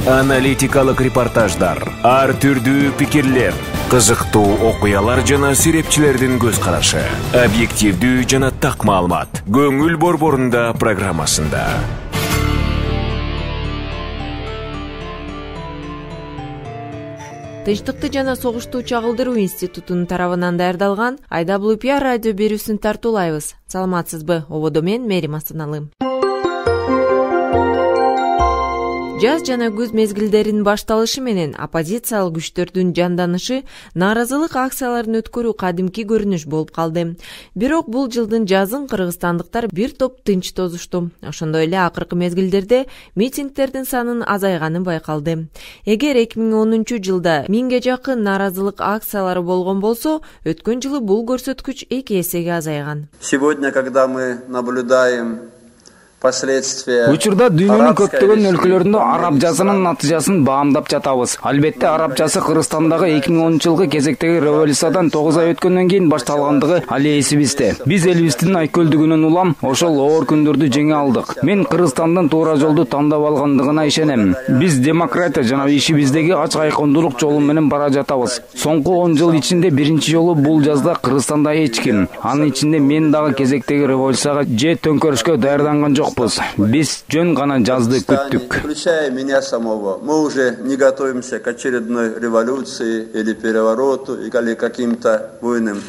Аналитикалык репортаждар, ар түрдүү пикирлер, кызыктуу окуялар жана серепчилердин көз карашы. Объективдүү жана так маалымат. Көңүл борборунда программасында. Тынчтыкты жана согушту чагылдыруу институтунун тарабынан даярдалган IWPR радио берүүсүн тартуулайбыз. Саламатсызбы? Ободо мен Мерим Астаналы. Жаз жана күз мезгилдеринин башталышы менен оппозициялык күчтөрдүн жанданышы нааразылык акцияларын өткөрүү кадимки көрүнүш болуп калды. Бирок бул жылдын жазын кыргызстандыктар бир топ тынч тозушту. Ошондой эле акыркы мезгилдерде митингдердин санын азайганы байкалды. Эгер 2010 жылда 1000ге жакын нааразылык акциялары болгон болсо, өткөн жылы бул көрсөткүч 2 эсеге азайган. Сегодня, когда мы наблюдаем Учурда дүйнөнүн көптөгөн өлкөлөрүндө араб жазынын натыйжасын баамдап жатабыз. Албетте араб жазы Кыргызстандагы 2010 жылкы кезектеги революциядан 9 ай өткөндөн кийин башталгандыгы али эсибизде. Биз элибиздин айкөлдүгүнөн улам ошол оор күндөрдү жеңе алдык. Мен Кыргызстандын туура жолду тандап алгандыгына ишенем. Биз демократия жана ишибиздеги ачык айкындуулук жолу менен бара жатабыз. Соңку 10 жыл ичинде биринчи жолу бул жазда Кыргызстанда эч ким, анын ичинде мен дагы кезектеги революцияга же төңкөрүшкө даярданган жок. Биз жөн гана жазды күттүк. Включая меня самого, мы уже не готовимся к очередной революции или перевороту или каким-то буйным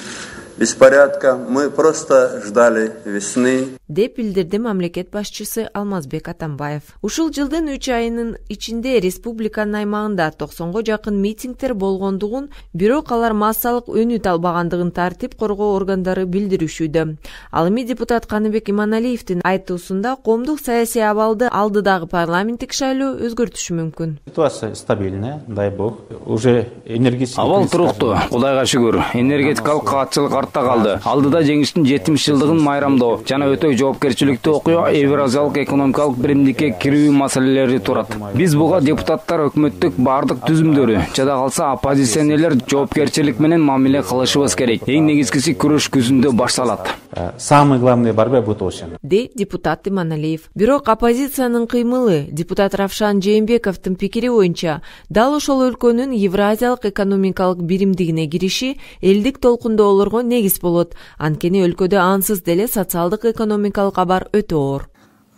беспорядка. Мы просто ждали весны. Деп билдирди мамлекет башчысы Алмазбек Атамбаев. Ушул жылдын 3 айынын ичинде республиканын аймагында 90го жакын митингдер болгондугун, бирок алар массалык өнүт албагандыгын тартип коргоо органдары билдиришүүдө. Ал эми депутат Каныбек Иманалиевдин айтуусунда коомдук саясий абалды алдыдагы парламенттик шайлоо өзгөртүшү мүмкүн. Ситуация стабильная, дай бог. Уже энергетика абал туруктуу, Кудайга шүгүр. Энергетикалык каатчылык артта калды. Алдыда жеңиштин 70 жылдыгын майрамдоо жана өтө жоопкерчиликтүү окуя Евразиялык экономикалык биримдикке кирүү маселелери турат. Биз буга депутаттар өкмөттүк бардык түзүмдөрү, жада калса оппозиционерлер жоопкерчилик менен мамиле кылышыбыз керек. Эң негизгиси күрөш күзүндө башталат. Самая главная борьба будет осень. Де депутат Иманалиев. Бирок оппозициянын кыймылы, депутат Равшан Жээнбековдун пикири боюнча, дал ошол өлкөнүн Евразиялык экономикалык биримдигине кириши элдик толкундоолорго негиз болот. Анткени өлкөдө ансыз деле социалдык экономикалык абар өтө оор.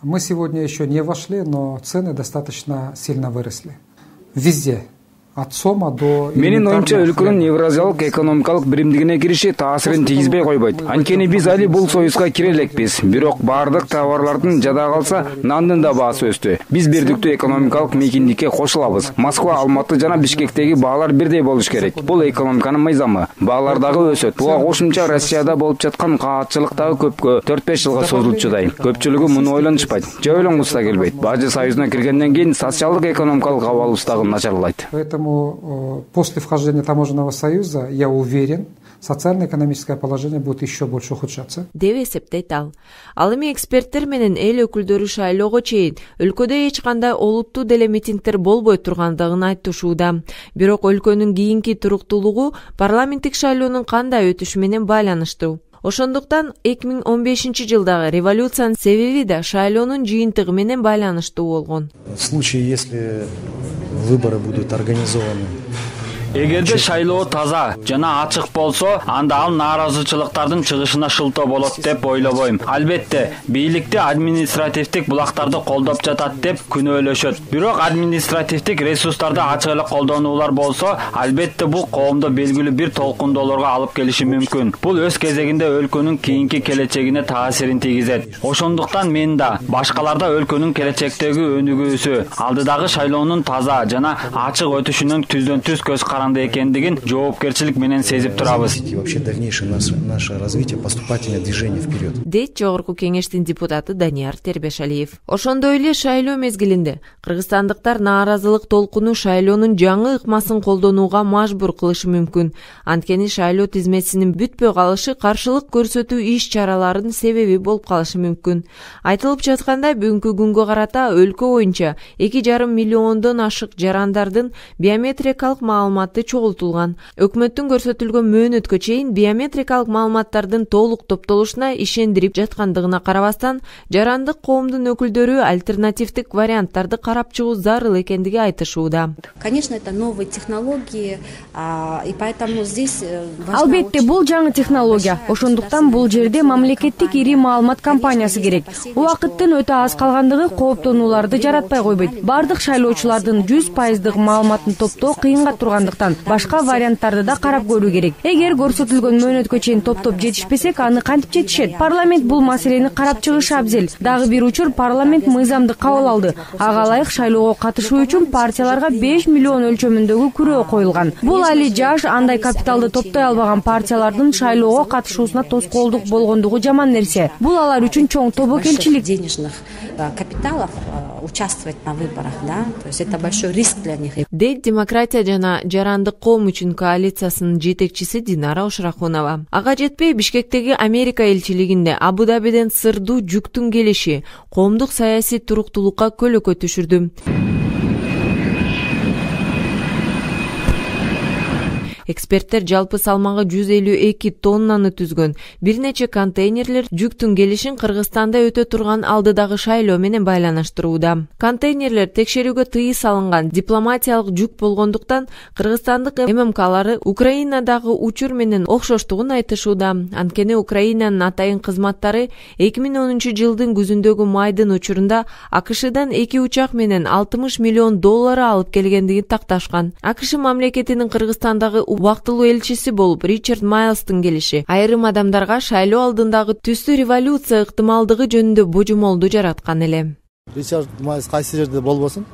Мы сегодня еще не вошли, но цены достаточно сильно выросли. Везде. От сома до... Менин оюмча өлкөнүн Евразиялык экономикалык биримдигине кириши таасирин тийгизбей койбойт. Анткени биз али бул союзга кире элекпиз. Бирок бардык товарлардын жада калса нандын да баасы өстү. Биз бирдиктүү экономикалык мейкиндикке кошулабыз. Москва, Алматы жана Бишкектеги баалар бирдей болуш керек. Бул экономиканын мыйзамы. Баалар дагы өсөт. Буга кошумча Россияда болуп жаткан каатчылык дагы көпкө 4-5 жылга созулчудай. Көпчүлүгү муну ойлонушпайт. Же ойлонгусу да келбейт. Бажы союзуна киргенден кийин социалдык экономикалык абалыбыз дагы начарлайт. После вхождения Таможенного союза, я уверен, социально-экономическое положение будет еще больше ухудшаться. Деп эсептейт ал. Ал эми эксперттер менен эл өкүлдөрү шайлоого чейин өлкөдө эч кандай олуттуу деле митингдер болбой тургандыгын айтышууда. Бирок өлкөнүн кийинки туруктуулугу парламенттик шайлоонун кандай өтүшү менен байланыштуу. Ошондуктан 2015 жылдагы революциянын себеби да шайлоонун жыйынтыгы менен байланыштуу болгон. В случае, если выборы будут организованы Эгерде шайлоо таза жана ачык болсо, анда ал нааразычылыктардын чыгышына шылтоо болот деп ойлобойм. Албетте, бийликти административдик булактарды колдоп жатат деп күнөөлөшөт. Бирок административдик ресурстарды ачык эле колдонуулар болсо, албетте бул коомдо белгилүү бир толкундоолорго алып келиши мүмкүн. Бул өз кезегинде өлкөнүн кийинки келечегине таасирин тийгизет. Ошондуктан мен да башкаларда өлкөнүн келечектеги өнүгүүсү, алдыдагы шайлоонун таза жана ачык өтүшүнүн түздөн-түз көз каранды экендигин жоопкерчилик менен сезип турабыз. Вообще дальнейшее наше развитие, поступательное движение вперед. Дейт Жогорку кеңештин депутаты Данияр Тербешалиев. Ошондой эле шайлоо мезгилинде кыргызстандыктар нааразылык толкуну шайлоонун жаңы ыкмасын колдонууга мажбур кылышы мүмкүн. Анткени шайлоо тизмесинин бүтпөй калышы каршылык көрсөтүү иш-чараларынын себеби болуп калышы мүмкүн. Айтылып жаткандай, бүгүнкү күнгө карата өлкө боюнча 2,5 миллиондон ашык жарандардын биометрикалык маалыматы маалыматы чогултулган. Өкмөттүн көрсөтүлгөн мөөнөткө чейин биометрикалык маалыматтардын толук топтолушуна ишендирип жаткандыгына карабастан, жарандык коомдун өкүлдөрү альтернативдик варианттарды карап чыгуу зарыл экендиги айтышууда. Конечно, это новые технологии, и поэтому здесь албетте бул жаңы технология. Ошондуктан бул жерде мамлекеттик ири маалымат компаниясы керек. Убакыттын өтө аз калгандыгы кооптонууларды жаратпай койбойт. Бардык шайлоочулардын 100% маалыматын топтоо кыйынга тургандыктан башка варианттарды да карап көрүү керек. Эгер көрсөтүлгөн мөөнөткө чейин топтоп жетишпесек, аны кантип жетишет? Парламент бул маселени карап чыгышы абзел. Дагы бир учур парламент мыйзамды кабыл алды. Ага ылайык шайлоого катышуу үчүн партияларга 5 миллион өлчөмүндөгү күрөө коюлган. Бул али жаш, андай капиталды топтой албаган партиялардын шайлоого катышуусуна тоскоолдук болгондугу жаман нерсе. Бул алар үчүн чоң тобокелчилик. Денежных капиталов участвовать на выборах, да? То есть это большой риск для них. Дейт демократия жана жарандык коом үчүн коалициясынын жетекчиси Динара Ушрахунова. Ага жетпей Бишкектеги Америка элчилигинде Абу-Дабиден сырдуу жүктүн келиши коомдук саясий туруктуулукка көлөкө түшүрдү. Эксперттер жалпы салмагы 152 тоннаны түзгөн бир нече контейнерлер жүктүн келишин Кыргызстанда өтө турган алдыдагы шайлоо менен байланыштырууда. Контейнерлер текшерүүгө тыйы салынган дипломатиялык жүк болгондуктан кыргызстандык ММКлары Украинадагы учур менен окшоштугун айтышууда. Анткени Украинанын атайын кызматтары 2010 жылдын күзүндөгү майдын учурунда АКШдан 2 учак менен $60 миллион алып келгендигин такташкан. АКШ мамлекетинин Кыргызстандагы убактылуу элчиси болуп Ричард Майлстын келиши айрым адамдарга шайлоо алдындагы түстүү революция ыктымалдыгы жөнүндө божомолду жараткан эле. Ричард Майлс кайсы жерде болбосун,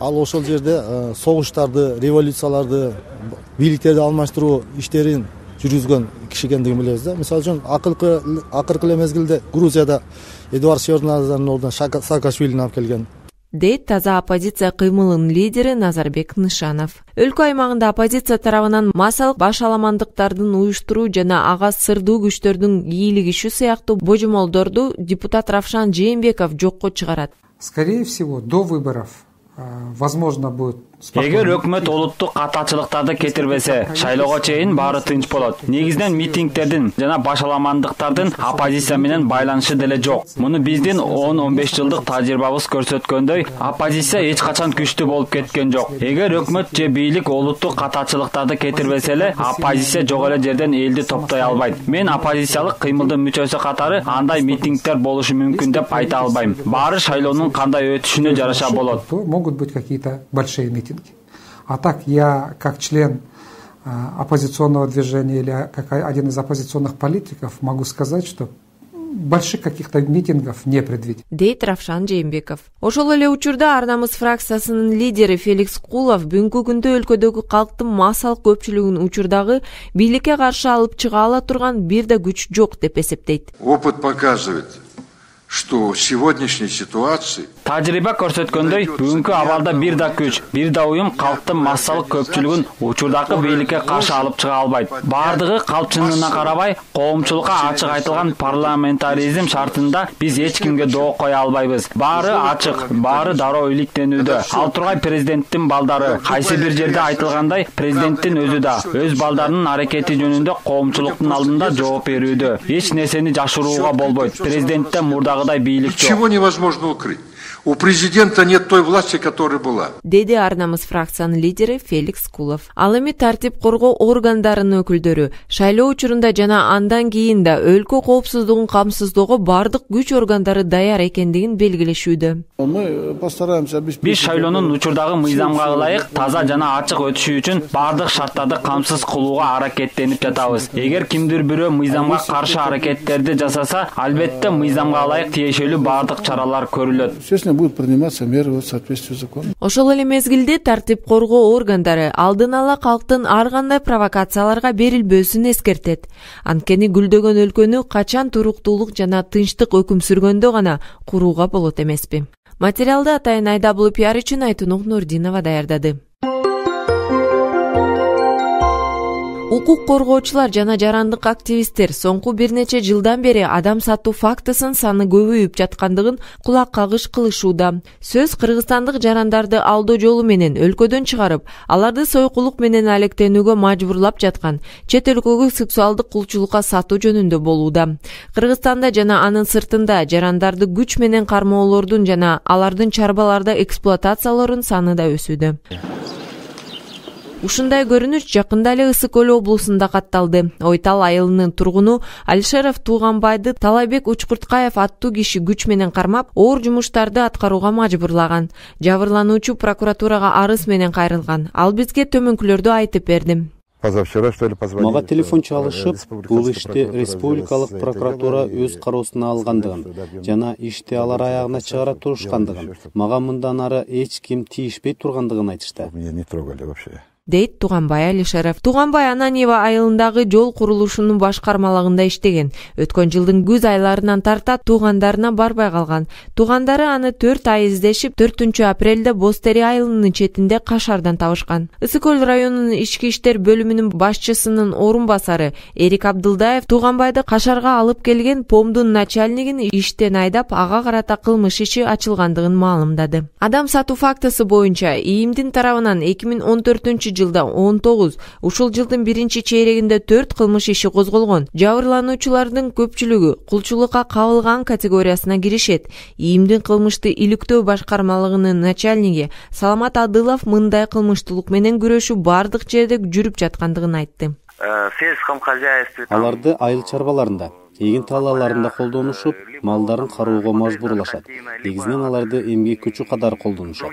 ал ошол жерде согуштарды, революцияларды, бийликтерди алмаштыруу иштерин жүргүзгөн киши экендигин билебиз да. Мисалы үчүн акыркы эле мезгилде Грузияда Эдуард Шеварднадзардын ордуна Саакашвилини алып келген. Дейт таза оппозиция кыймылынын лидери Назарбек Нышанов. Өлкө аймагында оппозиция тарабынан массалык башаламандыктардын уюштуруу жана ага сырдуу күчтөрдүн ийилигиши сыяктуу божомолдорду депутат Равшан Жээнбеков жокко чыгарат. Скорее всего, до выборов возможно будет. Эгер өкмөт олуттук катачылыктарды кетирбесе, шайлоого чейин баары тынч болот. Негизинен митингтердин жана башаламандыктардын оппозиция менен байланышы деле жок. Муну биздин 10-15 жылдык тажрыйбабыз көрсөткөндөй, оппозиция эч качан күчтүү болуп кеткен жок. Эгер өкмөт же бийлик олуттук катачылыктарды кетирбесе эле, оппозиция жок эле жерден элди топтой албайт. Мен оппозициялык кыймылдын мүчөсү катары андай митингдер болушу мүмкүн деп айта албайм. Баары шайлоонун кандай өтүшүнө жараша болот. Могут быть какие-то большие митинги. А так я, как член оппозиционного движения или как один из оппозиционных политиков, могу сказать, что больших каких-то митингов не предвидим. Дейт Равшан Жээнбеков. Ошол эле учурда Ар намыс фракциясынын лидери Феликс Кулов бүгүнкү күндө өлкөдөгү калктын массалык көпчүлүгүн учурдагы бийликке каршы алып чыга ала турган бир да күч жок деп эсептейт. Опыт показывает, что в сегодняшней ситуации Тажрыйба көрсөткөндөй, бүгүнкү абалда бир да күч, бир да уюм калктын массалык көпчүлүгүн учурдагы бийликке каршы алып чыга албайт. Бардыгы калпчынына карабай, коомчулукка ачык айтылган парламентаризм шартында биз эч кимге доо кое албайбыз. Баары ачык, баары дароо иликтенүүдө. Ал тургай президенттин балдары, кайсы бир жерде айтылгандай, президенттин өзү да өз балдарынын аракети жөнүндө коомчулуктун алдында жооп берүүдө. Эч нерсени жашырууга болбойт. Президентте мурдагыдай бийлик жок. Ничего невозможно укрыть. У президента нет той власти, которая была. Деди Ар намыс фракциянын лидери Феликс Кулов. Ал эми тартип коргоо органдарынын өкүлдөрү шайлоо учурунда жана андан кийин да өлкө коопсуздугун камсыздоого бардык күч органдары даяр экендигин белгилешүүдө. Мы постараемся обеспечить. Биз шайлоонун учурдагы мыйзамга ылайык таза жана ачык өтүшү үчүн бардык шарттарды камсыз кылууга аракеттенип жатабыз. Эгер кимдир бирөө мыйзамга каршы аракеттерди жасаса, албетте мыйзамга ылайык тиешелүү бардык чаралар көрүлөт. Будут приниматься меры в соответствии с законом. Ошол эле мезгилде тартип коргоо органдары алдын ала калктын ар кандай провокацияларга берилбөөсүн эскертет. Анткени гүлдөгөн өлкөнү качан туруктуулук жана тынчтык өкүм сүргөндө гана курууга болот эмеспи. Материалды атайын Айдабул пиар үчүн Айтунук Нурдинова даярдады. Укук коргоочулар жана жарандык активисттер соңку бир нече жылдан бери адам сатуу фактысынын саны көбөйүп жаткандыгын кулак кагыш кылышууда. Сөз кыргызстандык жарандарды алдоо жолу менен өлкөдөн чыгарып, аларды сойкулук менен алектенүүгө мажбурлап жаткан чет өлкөгө сексуалдык кулчулукка сатуу жөнүндө болууда. Кыргызстанда жана анын сыртында жарандарды күч менен кармоолордун жана алардын чарбаларда эксплуатациялоордун саны да өсүүдө. Ушундай көрүнүш жакында эле Ысык Көл облусунда катталды. Ойтал айылынын тургуну Алишеров Тууганбайды Талайбек Учкурткаев аттуу киши күч менен кармап, оор жумуштарды аткарууга мажбурлаган. Жабырлануучу прокуратурага арыз менен кайрылган. Ал бизге төмөнкүлөрдү айтып берди. Мага телефон чалышып, бул ишти республикалык прокуратура өз кароосуна алгандыгын жана ишти алар аягына чыгара турушкандыгын, мага мындан ары эч ким тийишпей тургандыгын айтышты. Дейт Тууганбай Алишеров. Тууганбай Ананиева айылындагы жол курулушунун башкармалыгында иштеген. Өткөн жылдын күз айларынан тарта туугандарына барбай калган. Туугандары аны 4 ай издешип, 4 апрелде Бостери айылынын четинде кашардан табышкан. Ысык Көл районунун ички иштер бөлүмүнүн башчысынын орун басары Эрик Абдылдаев Тууганбайды кашарга алып келген помдун начальнигин иштен айдап, ага карата кылмыш иши ачылгандыгын маалымдады. Адам сатуу фактысы боюнча ИИМдин тарабынан 2014 жылда 19, ушул жылдын биринчи чейрегинде 4 кылмыш иши козголгон. Жабырлануучулардын көпчүлүгү кулчулукка кабылган категориясына киришет. ИИМдин кылмышты иликтөө башкармалыгынын начальниги Саламат Адылов мындай кылмыштуулук менен күрөшүү бардык жерде жүрүп жаткандыгын айтты. Аларды айыл чарбаларында, эгин талааларында колдонушуп, малдарын кароого мажбурлашат. Негизинен аларды эмгек күчү катары колдонушат.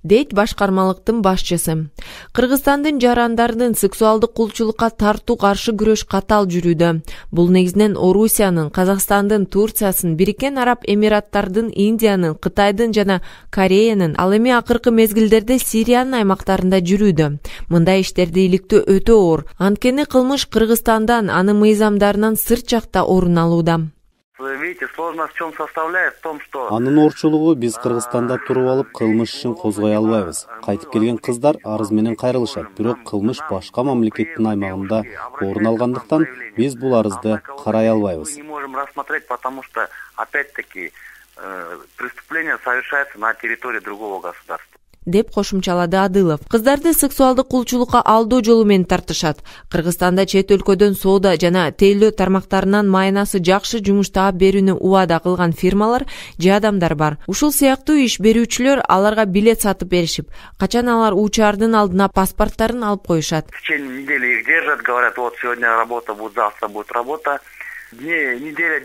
Дейт башкармалыктын башчысы. Кыргызстандын жарандардын сексуалдык кулчулукка тартуу каршы күрөш катал жүрүүдө. Бул негизинен Орусиянын, Казакстандын, Турциянын, Бириккен Араб Эмираттардын, Индиянын, Кытайдын жана Кореянын, ал эми акыркы мезгилдерде Сириянын аймактарында жүрүүдө. Мындай иштерди иликтөө өтө оор. Анткени кылмыш Кыргызстандан, анын мыйзамдарынан сырт жакта орун алууда. Анын оорчулугу биз Кыргызстанда туруп алып кылмыш ишин козгой албайбыз. Кайтып келген кыздар арыз менен кайрылышат, бирок кылмыш башка мамлекеттин аймагында орун алгандыктан биз бул арызды карай албайбыз. Преступление совершается на территории другого государства. Деп кошумчалады Адылов. Кыздарды сексуалдык кулчулукка алдоо жолу менен тартышат. Кыргызстанда чет өлкөдөн соода жана тейлөө тармактарынан майнасы жакшы жумуш таап берүүнү убада кылган фирмалар же адамдар бар. Ушул сыяктуу иш берүүчүлөр аларга билет сатып беришип, качан алар учаардын алдына паспорттарын алып коюшат. В течение недели их держат, говорят, вот сегодня работа будет, завтра будет работа.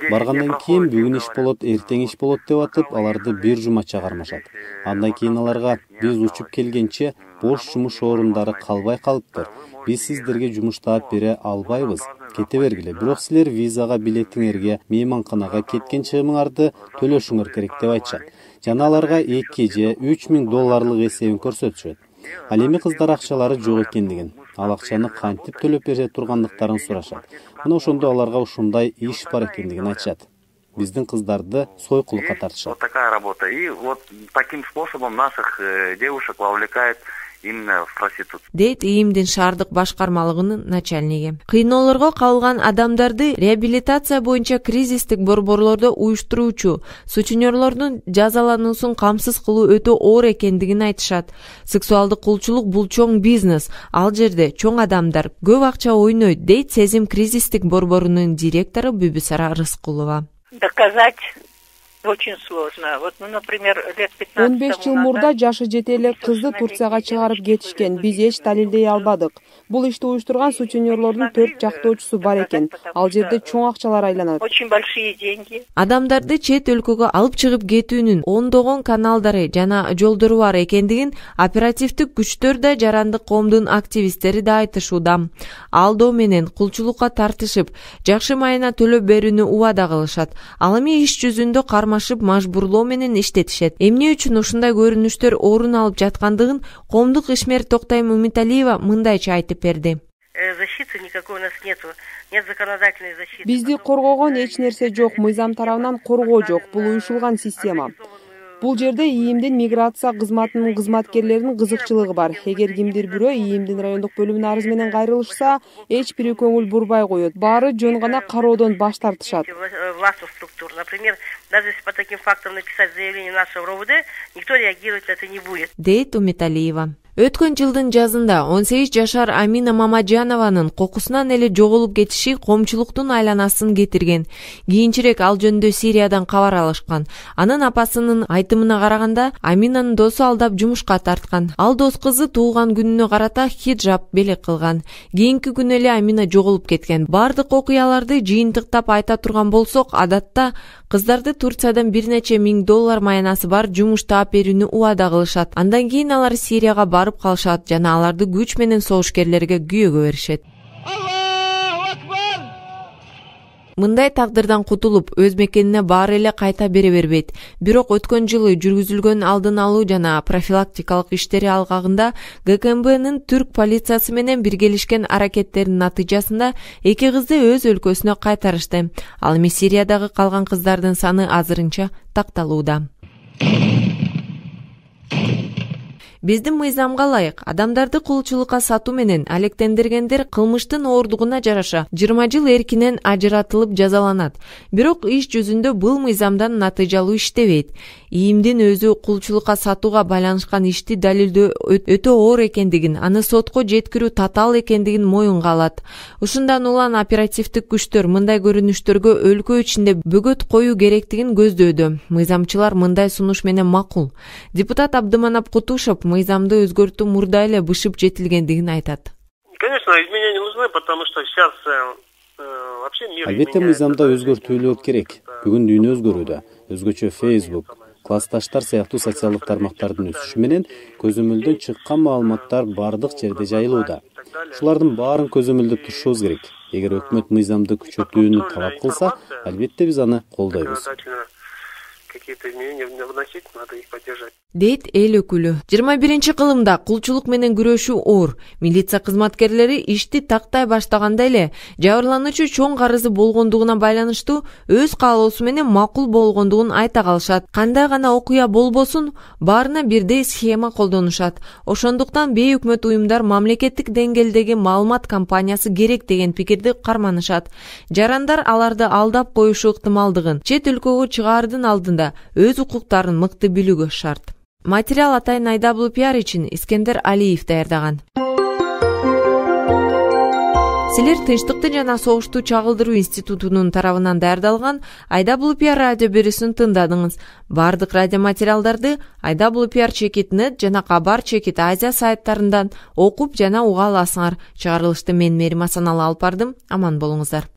Баргандан кийин бүгүн иш болот, эртең иш болот деп атып, аларды бир жумача кармашат. Андан кийин аларга биз учуп келгенче бош жумуш орундары калбай калыптыр. Биз сиздерге жумуш таап бере албайбыз. Кете бергиле. Бирок силер визага, билетиңерге, мейманканага кеткен чыгымыңарды төлөшүңөр керек деп айтышат. Жана аларга 2 же 3 миң долларлык эсебин көрсөтүшөт. Ал эми кыздар акчалары жок экендигин, ал акчаны кантип төлөп бере тургандыктарын сурашат. Мына ошондо аларга ушундай иш бар экендигин айтышат. Биздин кыздарды сойкулукка тартышат. Вот такая работа. И вот таким способом наших девушек вовлекает именно в проституцию. Дейт ИИМдин шаардык башкармалыгынын начальниги. Кыйноолорго кабылган адамдарды реабилитация боюнча кризистик борборлордо уюштуруучу сутенерлордун жазалануусун камсыз кылуу өтө оор экендигин айтышат. Сексуалдык кулчулук бул чоң бизнес. Ал жерде чоң адамдар көп акча ойнойт, дейт Сезим кризистик борборунун директору Бүбүсара Рыскулова. Доказать очень сложно. Вот, ну, например, лет 15 15 жыл мурда жашы жете эле кызды Турцияга чыгарып кетишкен. Биз эч далилдей албадык. Бул ишти уюштурган сутенерлордун 4 жактоочусу бар экен. Ал жерде чоң акчалар айланат. Очень большие деньги. Адамдарды чет өлкөгө алып чыгып кетүүнүн ондогон каналдары жана жолдору бар экендигин оперативдик күчтөр да жарандык коомдун активисттери да айтышууда. Алдоо менен кулчулукка тартышып, жакшы майына төлөп берүүнү убада кылышат. Ал эми иш жүзүндө кармашып, мажбурлоо менен иштетишет. Эмне үчүн ушундай көрүнүштөр орун алып жаткандыгын коомдук ишмер Токтойм Умиталиева мындайча айтып берди. Защиты никакой у нас нету. Нет законодательной защиты. Бизди коргогон эч нерсе жок, мыйзам тарабынан коргоо жок. Бул уюшулган система. Бул жерде ИИМдин миграция кызматынын кызматкерлеринин кызыкчылыгы бар. Эгер кимдир бирөө ИИМдин райондук бөлүмүнүн арызы менен кайрылышса, эч бири көңүл бурбай коет. Баары жөн гана кароодон баш тартышат. Властных структур, например, даже если по таким фактам написать заявление нашего РОВД, никто реагировать на это не будет. Дейт Умиталиева. Өткөн жылдын жазында 18 жашар Амина Мамаджанованын кокусунан эле жоголуп кетиши коомчулуктун айланасын кетирген. Кийинчерээк ал жөнүндө Сириядан кабар алышкан. Анын апасынын айтымына караганда, Аминанын досу алдап жумушка тарткан. Ал дос кызы туулган күнүнө карата хиджаб белек кылган. Кийинки күнү эле Амина жоголуп кеткен. Бардык окуяларды жыйынтыктап айта турган болсок, адатта кыздарды Турциядан бир нече $1000 маянасы бар жумуш таап берүүнү убада кылышат. Андан кийин алар Сирияга барып калышат жана аларды күч менен согушкерлерге күйөөгө беришет. Мындай тагдырдан кутулуп, өз мекенине баары эле кайта бере бербейт. Бирок өткөн жылы жүргүзүлгөн алдын алуу жана профилактикалык иштери алгагында ГКМБнын түрк полициясы менен биргелишкен аракеттеринин натыйжасында эки кызды өз өлкөсүнө кайтарышты. Ал эми Сириядагы калган кыздардын саны азырынча такталууда. Биздин мыйзамга ылайык адамдарды кулчулукка сатуу менен алектендиргендер кылмыштын ооругуна жараша 20 жыл эркинен ажыратылып жазаланат. Бирок иш жүзүндө бул мыйзамдан натыйжалуу иштебейт. ИИМдин өзү кулчулукка сатууга байланышкан ишти далилдөө өтө оор экендигин, аны сотко жеткирүү татаал экендигин моюнга алат. Ушундан улам оперативдик күчтөр мындай көрүнүштөргө өлкө ичинде бөгөт коюу керектигин көздөөдө. Мыйзамчылар мындай сунуш менен макул. Депутат Абдыманап Кутушев мыйзамды өзгөртүү мурда эле бышып жетилгендигин айтат. Конечно, изменения нужны, потому что сейчас вообще мир. Албетте мыйзамда өзгөртүүлөр керек. Бүгүн дүйнө өзгөрүүдө. Өзгөчө Facebook, классташтар сыяктуу социалдык тармактардын өсүшү менен көзөмөлдөн чыккан маалыматтар бардык жерде жайылууда. Ушулардын баарын көзөмөлдөп турушубуз керек. Эгер өкмөт мыйзамды күчөтүүнү талап кылса, албетте биз аны колдойбуз. Какие-то изменения вносить, надо их поддержать. Дейт эл өкүлү. 21-кылымда кулчулук менен күрөшүү оор. Милиция кызматкерлери ишти тактай баштаганда эле жабырлануучу чоң карызы болгондугуна байланыштуу өз каалоосу менен макул болгондугун айта калышат. Кандай гана окуя болбосун, баарына бирдей схема колдонушат. Ошондуктан бейөкмөт уюмдар мамлекеттик деңгээлдеги маалымат кампаниясы керек деген пикирди карманышат. Жарандар аларды алдап коюшу ыктымалдыгын чет өлкөгө чыгаардын алдында өз укуктарын мыкты билүүгө шарт. Материал атайын IWPR үчүн Искендер Алиев даярдаган. Силер Тынчтыкты жана согушту чагылдыруу институтунун тарабынан даярдалган IWPR радио берүүсүн тыңдадыңыз. Бардык радио материалдарды IWPR.net жана Кабар Чекит Азия сайттарынан окуп жана уга аласыңар. Чыгарылышты мен Мерим Асаналы алып бардым. Аман болуңуздар.